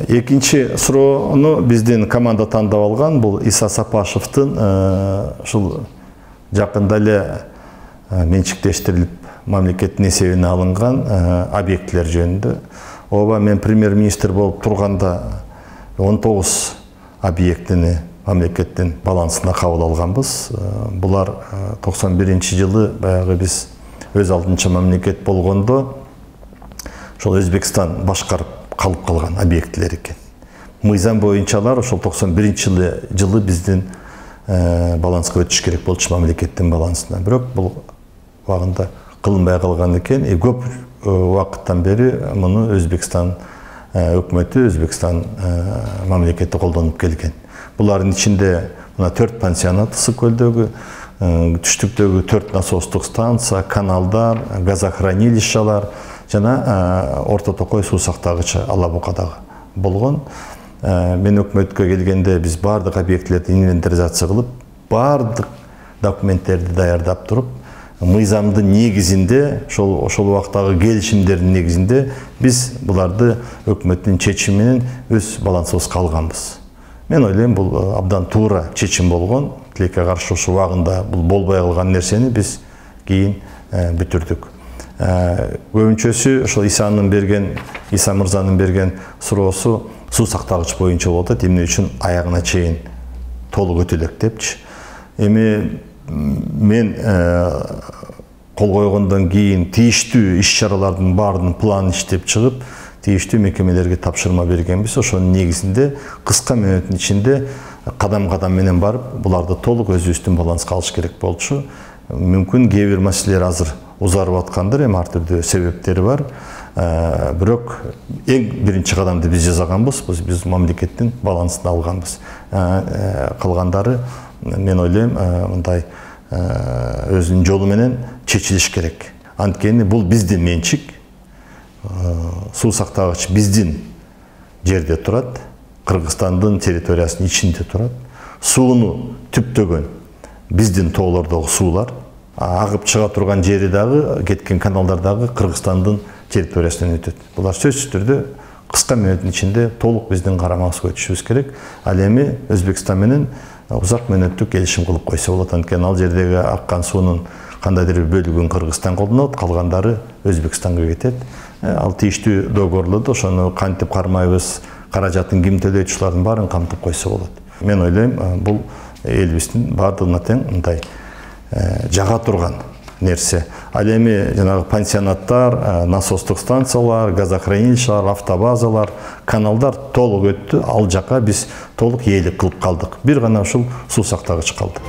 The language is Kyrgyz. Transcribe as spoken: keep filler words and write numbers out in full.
Экинчи суроону биздин команда тандап алган. Бул Иса Сапашевдин ушул жакында эле менчиктештирилип мамлекеттин эсебине алынган объектилер жөнүндө. Ооба, мен премьер-министр болуп турганда он тогуз объектини мамлекеттин балансына кабыл алганбыз. Булар токсон биринчи жылы баягы биз өз алдынча мамлекет болгондо ошол Өзбекстан башкарып калып калган объектилер экен. Мыйзам боюнча алар ошол токсон биринчи жылы биздин баланска өтүш керек болчу, мамлекеттин балансына. Бирок бул убагында кылынбай калган экен. Көп убакыттан бери муну Өзбекстан өкмөтү, Өзбекстан мамлекети колдонуп келген. Булардын ичинде мына төрт пансионат ысык көлдөгү, түштүктөгү төрт насостук станция, каналдар, газохранилищалар жана Орто Токой суу сактагычы Алабукадагы болгон. Мен өкмөткө келгенде биз бардык объектилерди инвентаризация кылып, бардык документтерди даярдап туруп, мыйзамдын негизинде, ошол ошол убактагы келишимдердин негизинде биз буларды өкмөттүн чечими менен өз балансыбызга алганбыз. Мен ойлойм, бул абдан туура чечим болгон. Тилекке каршы ушул убагында бул болбой калган нерсени биз кийин бүтүрдүк. Көбүнчөсү ошол Исанын берген, Иса мырзанын берген суроосу суу сактагыч боюнча болуп атат. Эмне үчүн аягына чейин толук өтөлөк депчи. Эми мен кол койгондон кийин тийиштүү иш-чаралардын баардыгын план иштеп чыгып, тийиштүү мекемелерге тапшырма бергенбиз. Ошонун негизинде кыска мөөнөттүн ичинде кадам-кадам менен барып, буларды толук өзүбүздүн баланска алыш керек болчу. Мүмкүн кээ бир маселелер азыр узарып аткандыр, эми ар түрдүү себептери бар. Бирок эң биринчи кадамды биз жасаганбыз, биз мамлекеттин балансына алганбыз. Калгандары мен ойлойм, мындай өзүнүн жолу менен чечилиш керек. Анткени бул биздин менчик, суу сактагыч биздин жерде турат, Кыргызстандын территориясынын ичинде турат. Сууну түптөгөн биздин тоолордогу суулар, агып чыга турган жери дагы, кеткен каналдар дагы Кыргызстандын территориясынан өтөт. Булар сөзсүз түрдө кыска мөөнөттүн ичинде толук биздин карамагыбызга өтүшүбүз керек. Ал эми Өзбекстан менен узак мөөнөттүк келишим кылып койсо болот. Анткени ал жердеги аккан суунун кандайдыр бир бөлүгүн Кыргызстан колдонот, калгандары Өзбекстанга кетет. Ал тийиштүү договорлордо ошону кантип кармайбыз, каражатын ким төлөйт, ушулардын баарын камтып койсо болот. Мен ойлойм, бул элибиздин баардыгына тең мындай жага турган нерсе. Ал эми жанагы пансионаттар, насостук станциялар, газохранилищалар, автобазалар, каналдар толук өттү. Ал жака биз толук ээлик кылып калдык. Бир гана ушул суу сактагыч калды.